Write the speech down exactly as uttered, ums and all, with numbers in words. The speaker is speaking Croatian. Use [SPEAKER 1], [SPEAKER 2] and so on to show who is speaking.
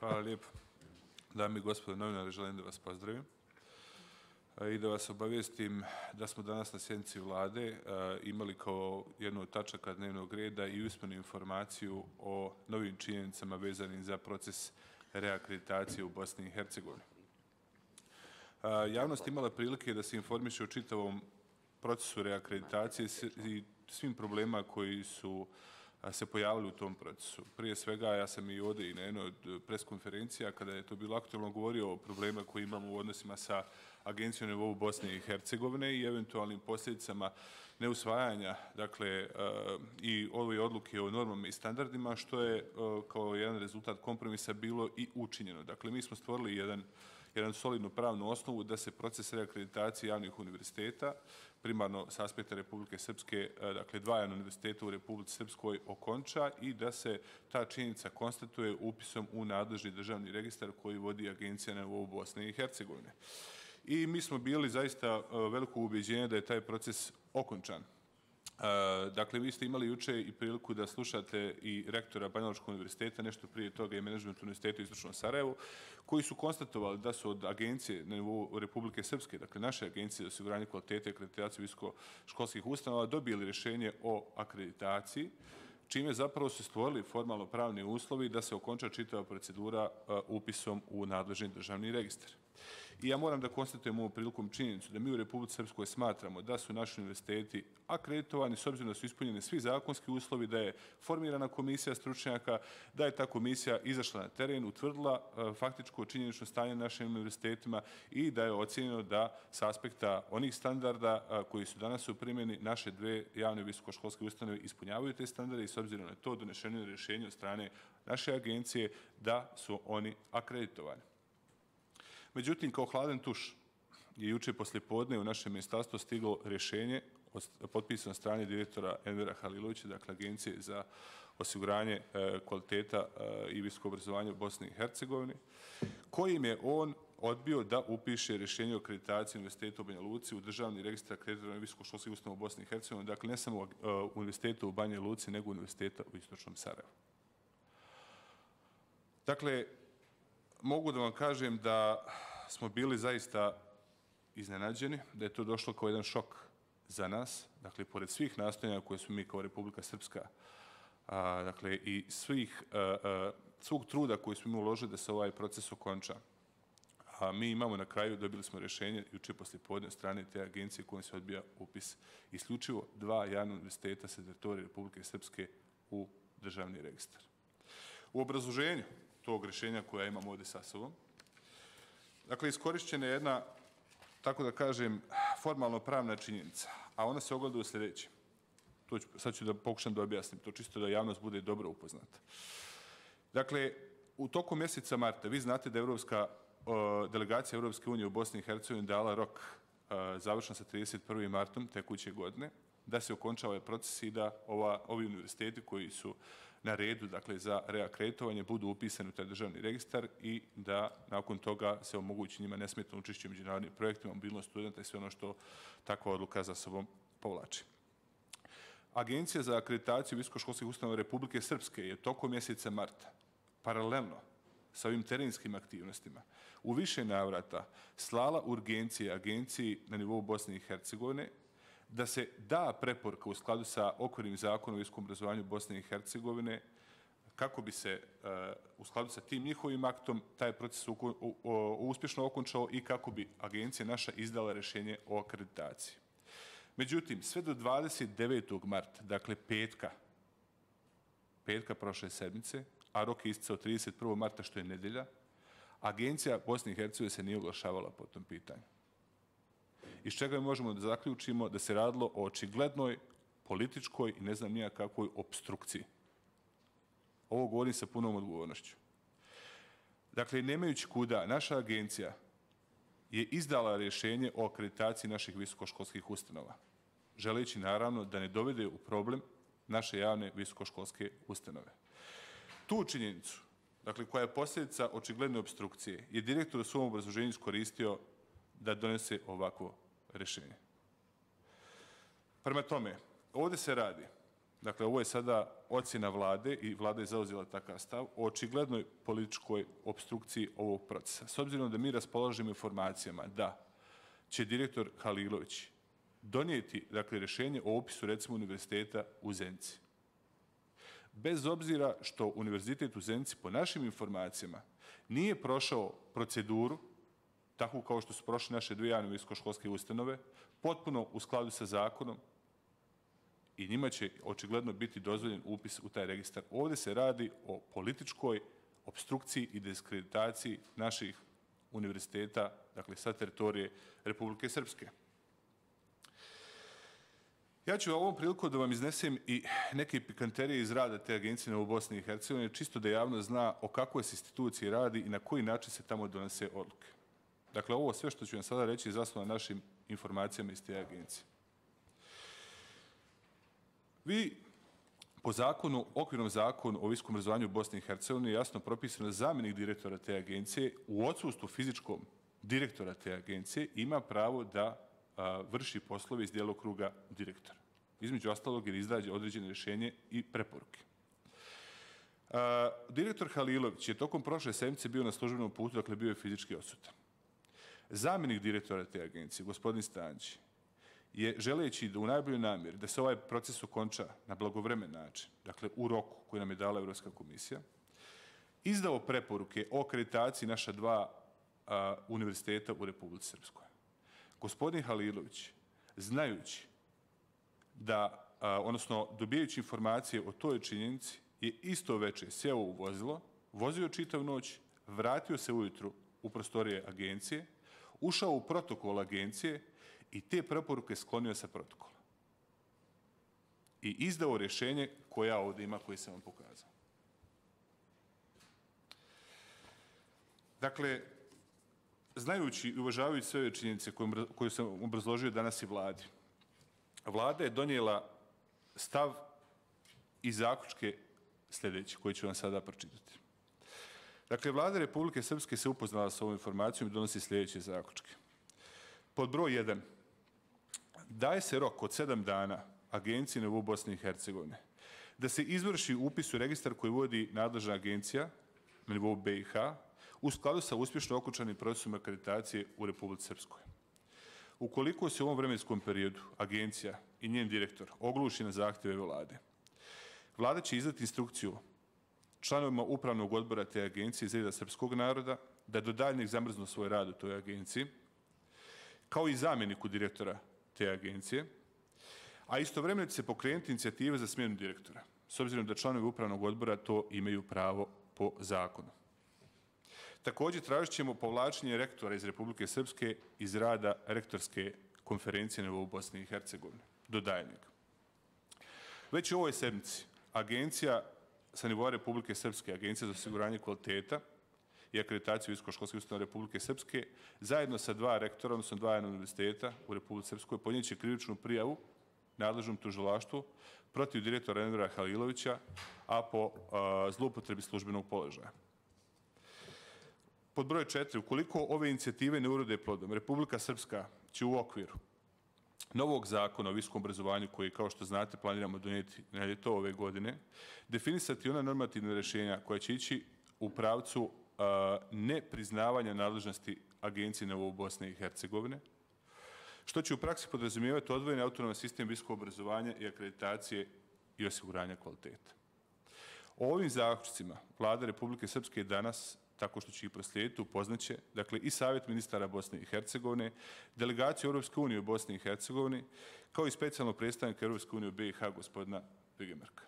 [SPEAKER 1] Hvala lijepo. Dame i gospodo novinari, želim da vas pozdravim i da vas obavijestim da smo danas na sjednici Vlade imali kao jednu od tačaka dnevnog reda i usmenu informaciju o novim činjenicama vezanim za proces reakreditacije u Bosni i Hercegovini. Javnost imala prilike da se informiše o čitavom procesu reakreditacije i svim problemima koji su se pojavili u tom procesu. Prije svega, ja sam i ovdje i na jednoj od preskonferencija, kada je to bilo aktualno, govorio o problemima koje imamo u odnosima sa Agencijom na nivou Bosne i Hercegovine i eventualnim posljedicama neusvajanja, dakle, i ove odluke o normama i standardima, što je kao jedan rezultat kompromisa bilo i učinjeno. Dakle, mi smo stvorili jedan jedan solidnu pravnu osnovu da se proces reakreditacije javnih univerziteta, primarno s aspekta Republike Srpske, dakle dva javna univerziteta u Republici Srpskoj, okonča i da se ta činjenica konstatuje upisom u nadležni državni registar koji vodi Agencija na nivou Bosne i Hercegovine. I mi smo bili zaista veliko ubeđenje da je taj proces okončan. Dakle, vi ste imali juče i priliku da slušate i rektora Banjalučkog univerziteta, nešto prije toga i menadžment univerziteta u Istočnom Sarajevu, koji su konstatovali da su od agencije na nivou Republike Srpske, dakle naše agencije za osiguranje kvalitete i akreditaciju visokoškolskih ustanova, dobili rješenje o akreditaciji, čime zapravo su stvorili formalno pravni uslovi da se okonča čitava procedura upisom u nadležni državni registar. I ja moram da konstatujem ovom prilikom činjenicu da mi u Republici Srpskoj smatramo da su naši univerziteti akreditovani s obzirom da su ispunjeni svi zakonski uslovi, da je formirana komisija stručnjaka, da je ta komisija izašla na teren, utvrdila faktičko činjenično stanje na našim univerzitetima i da je ocjenjeno da s aspekta onih standarda koji su danas u primjeni naše dve javne visokoškolske ustanove ispunjavaju te standarde i s obzirom na to donešeno je rješenje od strane naše agencije da su oni akreditovani. Međutim, kao hladan tuš je juče poslijepodne u našem ministarstvu stiglo rješenje potpisano od strane direktora Envera Halilovića, dakle Agencije za osiguranje kvaliteta i visoko obrazovanje u Bosni i Hercegovini, kojim je on odbio da upiše rješenje o akreditaciji Univerziteta u Banja Luci u državni registar akreditovanih visokoškolskih ustanova u Bosni i Hercegovini, dakle ne samo Univerziteta u Banja Luci, nego Univerziteta u Istočnom Sarajevu. Dakle, mogu da vam kažem da smo bili zaista iznenađeni, da je to došlo kao jedan šok za nas, dakle, pored svih nastojanja koje smo mi kao Republika Srpska, dakle, i svih, svog truda koji smo mi uložili da se ovaj proces okonča. A mi imamo na kraju, dobili smo rješenje juče poslijepodne od strane te agencije kojom se odbija upis isključivo dva javna univerziteta sa teritorije Republike Srpske u državni registar. U obrazloženju tog rješenja koja imamo ovdje sa sobom, dakle, iskorišćena je jedna, tako da kažem, formalno pravna činjenica, a ona se ogleda u sljedećem. Sad ću da pokušam da objasnim to, čisto da javnost bude dobro upoznata. Dakle, u toku mjeseca marta, vi znate da je Evropska delegacija Evropske unije u Bosni i Hercegovini dala rok završen sa trideset prvim martom tekuće godine, da se okonča ovaj proces i da ova, ovi univerziteti koji su na redu, dakle, za reakreditovanje budu upisani u taj državni registar i da nakon toga se omogući njima nesmetno učešće u međunarodnim projektima, mobilnost studenta i sve ono što takva odluka za sobom povlači. Agencija za akreditaciju visokoškolskih ustanova Republike Srpske je tokom mjeseca marta paralelno sa ovim terenskim aktivnostima u više navrata slala urgencije agenciji na nivou Bosne i Hercegovine da se da preporuka u skladu sa okvirnim zakonom o visokom obrazovanju Bosne i Hercegovine kako bi se u skladu sa tim njihovim aktom taj proces uspješno okončao i kako bi agencija naša izdala rješenje o akreditaciji. Međutim, sve do dvadeset devetog marta, dakle petka, petka prošle sedmice, a rok je isticao trideset prvog marta, što je nedelja, agencija Bosne i Hercegovine se nije oglašavala po tom pitanju. Iz čega mi možemo da zaključimo da se radilo o očiglednoj političkoj i ne znam nija kakvoj opstrukciji. Ovo govorim sa punom odgovornošću. Dakle, nemajući kuda, naša agencija je izdala rješenje o akreditaciji naših visokoškolskih ustanova, želeći naravno da ne dovede u problem naše javne visokoškolske ustanove. Tu činjenicu, dakle, koja je posljedica očigledne opstrukcije, je direktor u svom obrazloženju iskoristio da donese ovakvo rješenje. Prema tome, ovdje se radi, dakle, ovo je sada ocjena vlade i vlada je zauzela takav stav o očiglednoj političkoj opstrukciji ovog procesa. S obzirom da mi raspolažemo informacijama da će direktor Halilović donijeti, dakle, rješenje o upisu, recimo, univerziteta u Zenici. Bez obzira što univerzitet u Zenici, po našim informacijama, nije prošao proceduru, tako kao što su prošle naše dvije javne visokoškolske ustanove, potpuno u skladu sa zakonom, i njima će očigledno biti dozvoljen upis u taj registar. Ovdje se radi o političkoj opstrukciji i diskreditaciji naših univerziteta, dakle, sa teritorije Republike Srpske. Ja ću ovom priliku da vam iznesem i neke pikanterije iz rada te agencije u Bosni i Hercegovini, čisto da javnost zna o kakvoj se instituciji radi i na koji način se tamo donose odluke. Dakle, ovo sve što ću vam sada reći je zasnovano na našim informacijama iz te agencije. Vi, po zakonu, okvirnom zakonu o visokom obrazovanju u Bosni i Hercegovini, je jasno propisano da zamjenik direktora te agencije u odsustvu fizičkom direktora te agencije ima pravo da a, vrši poslove iz djelokruga direktora. Između ostalog, jer izdađe određene rješenje i preporuke. A, direktor Halilović je tokom prošle sedmice bio na službenom putu, dakle bio je fizički odsutan. Zamjenik direktora te agencije, gospodin Stančić, je želeći da u najboljoj namjeri da se ovaj proces okonča na blagovremen način, dakle u roku koji nam je dala Evropska komisija, izdao preporuke o akreditaciji naša dva a, univerziteta u Republici Srpskoj. Gospodin Halilović, znajući da, a, odnosno dobijajući informacije o toj činjenici, je isto veče sjeo u vozilo, vozio čitav noć, vratio se ujutru u prostorije agencije, ušao u protokol agencije i te preporuke sklonio sa protokola. I izdao rješenje koje ja ovdje ima, koje sam vam pokazao. Dakle, znajući i uvažavajući sve ove činjenice koje sam obrazložio danas i vladi, vlada je donijela stav i zaključke sljedeće, koje ću vam sada pročitati. Dakle, vlada Republike Srpske se upoznala sa ovom informacijom i donosi sljedeće zaključke. Pod broj jedan. Daje se rok od sedam dana agenciji na nivou Bosne i Hercegovine da se izvrši upis u registar koji vodi nadležna agencija na nivou B i H u skladu sa uspješno okončanim procesom akreditacije u Republici Srpskoj. Ukoliko se u ovom vremenskom periodu agencija i njen direktor ogluši na zahtjeve vlade, vlada će izdati instrukciju članovima upravnog odbora te agencije iz reda srpskog naroda da do daljnjeg zamrznu svoj rad u toj agenciji, kao i zamjeniku direktora te agencije, a istovremeno će se pokrenuti inicijative za smjenu direktora, s obzirom da članovi upravnog odbora to imaju pravo po zakonu. Također tražit ćemo povlačenje rektora iz Republike Srpske iz rada rektorske konferencije na nivou Bosne i Hercegovine, do daljnjeg. Već u ovoj sedmici agencija sa nivoa Republike Srpske, Agencija za osiguranje kvaliteta i akreditaciju visokoškolskih ustanova Republike Srpske, zajedno sa dva rektora, odnosno dva univerziteta u Republici Srpskoj, podnijet će krivičnu prijavu nadležnom tužilaštvu protiv direktora Envera Halilovića, a po a, zloupotrebi službenog položaja. Pod broj četiri. Ukoliko ove inicijative ne urode plodom, Republika Srpska će u okviru novog zakona o visokom obrazovanju, koji, kao što znate, planiramo donijeti na ljeto ove godine, definisati ona normativna rješenja koja će ići u pravcu a, nepriznavanja nadležnosti agencije na nivou Bosne i Hercegovine, što će u praksi podrazumijevati odvojeni autonoman sistem visokog obrazovanja i akreditacije i osiguranja kvaliteta. O ovim zaključcima vlada Republike Srpske danas, tako što će ih proslijediti, upoznaće, dakle, i Savjet ministara Bosne i Hercegovine, delegaciju Europske unije u Bosni i Hercegovini, kao i specijalnog predstavnika Europske unije u B i H, gospodina Bigemerka.